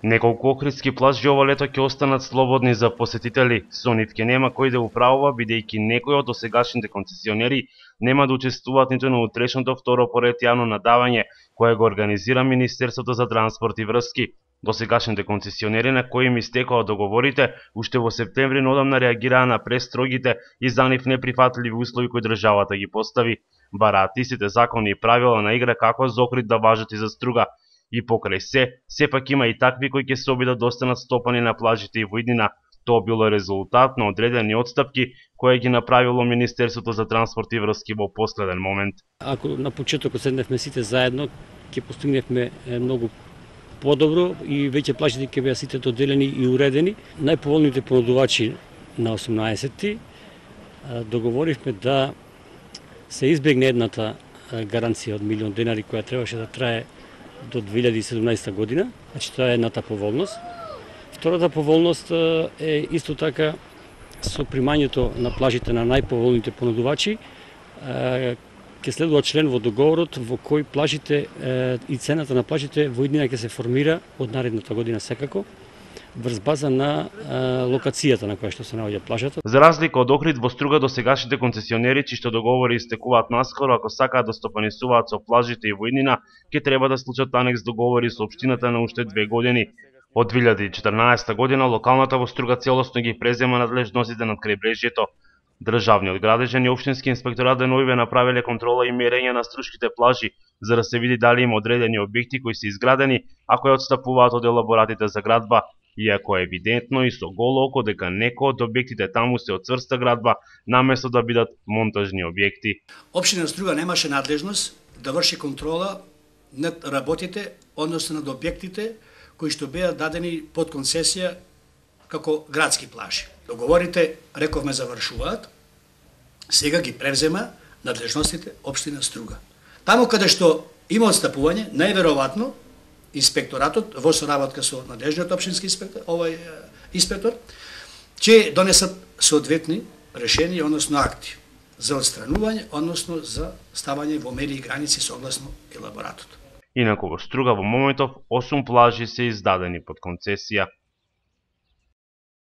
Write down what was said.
Неколку охридски плажи ова лето ќе останат слободни за посетители, со нив ќе нема кој да управува, бидејќи некои од досегашните концесионери нема да учествуваат ниту на утрешното второ поред јавно надавање, кое го организира Министерството за транспорт и врски. Досегашните концесионери на кои им истекоа договорите, уште во септември одамна реагираа на престрогите и за нив неприфатливи услови кои државата ги постави. Бараат истите закони и правила на игра како за Охрид да важат и за Струга. И покрај сепак има и такви кои ќе се обидат да останат стопани на плажите и во иднина. Тоа било резултат на одредени отстапки кои ги направило Министерството за транспорт и врски во последен момент. Ако на почетокот седневме сите заедно, ќе постигневме многу подобро и веќе плажите ќе беа сите доделени и уредени. Најповолните понудувачи на 18-ти договоривме да се избегне едната гаранција од $1.000.000 која требаше да трае до 2017 година, значи тоа е едната поволност. Втората поволност е исто така со примањето на плажите на најповолните понудувачи, ќе следува член во договорот во кој плажите и цената на плажите во иднина ќе се формира од наредната година секако, врз база на локацијата на која што се наоѓа плажата. За разлика од Охрид, во Струга досегашните концесионери, чишто договори истекуваат наскоро, ако сакаат да стопанисуваат со плажите и во иднина, ќе треба да склучат анекс договори со општината на уште 2 години. Од 2014 година локалната во Струга целосно ги презема надлежностите над крајбрежјето. Државниот градежен и општински инспекторат деновиве направиле контрола и мерење на струшките плажи, за да се види дали има одредени објекти кои се изградени, а кои отстапуваат од елаборатите за градба, иако е евидентно и со голо око дека некои од објектите таму се од цврста градба, наместо да бидат монтажни објекти. Општина Струга немаше надлежност да врши контрола над работите, односно над објектите кои што беа дадени под концесија како градски плажи. Договорите, рековме, завршуваат, сега ги превзема надлежностите општина Струга. Таму каде што има отстапување, најверојатно инспекторатот во соработка со надлежниот општински инспектор ќе донесат соодветни решенија, односно акти за отстранување, односно за ставање во мери и граници согласно елаборатот. Инаку во Струга во моментов 8 плажи се издадени под концесија.